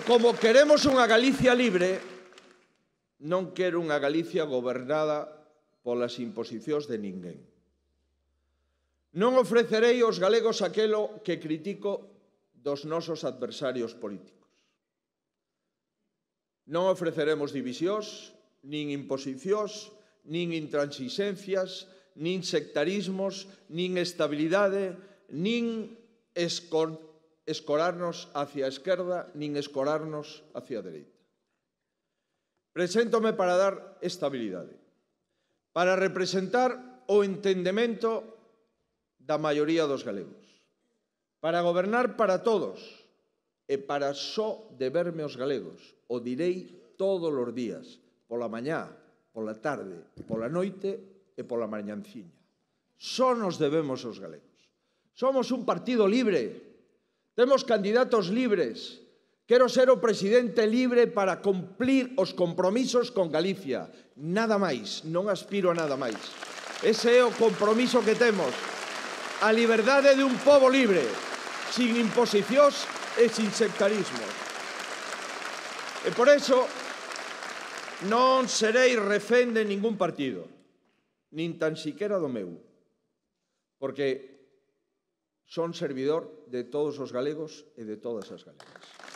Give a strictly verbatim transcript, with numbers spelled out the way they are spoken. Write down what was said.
Como queremos unha Galicia libre, non quero unha Galicia gobernada polas imposicións de ninguén. Non ofrecerei aos galegos aquelo que critico dos nosos adversarios políticos. Non ofreceremos divisións, nin imposicións, nin intransixencias, nin sectarismos, nin estabilidade, nin escor escorarnos hacia a esquerda, nin escorarnos hacia a dereita. Preséntome para dar estabilidade, para representar o entendemento da maioría dos galegos, para gobernar para todos e para só deberme aos galegos. O direi todos os días, pola mañá, pola tarde, pola noite e pola mañanciña. Só nos debemos aos galegos. Somos un partido libre. Temos candidatos libres. Quero ser o presidente libre para cumplir os compromisos con Galicia. Nada máis, non aspiro a nada máis. Ese é o compromiso que temos. A liberdade de un pobo libre, sin imposicións e sin sectarismos. E por eso non serei refén de ningún partido, nin tan siquera do meu, porque son servidor de todos os galegos e de todas as galegas.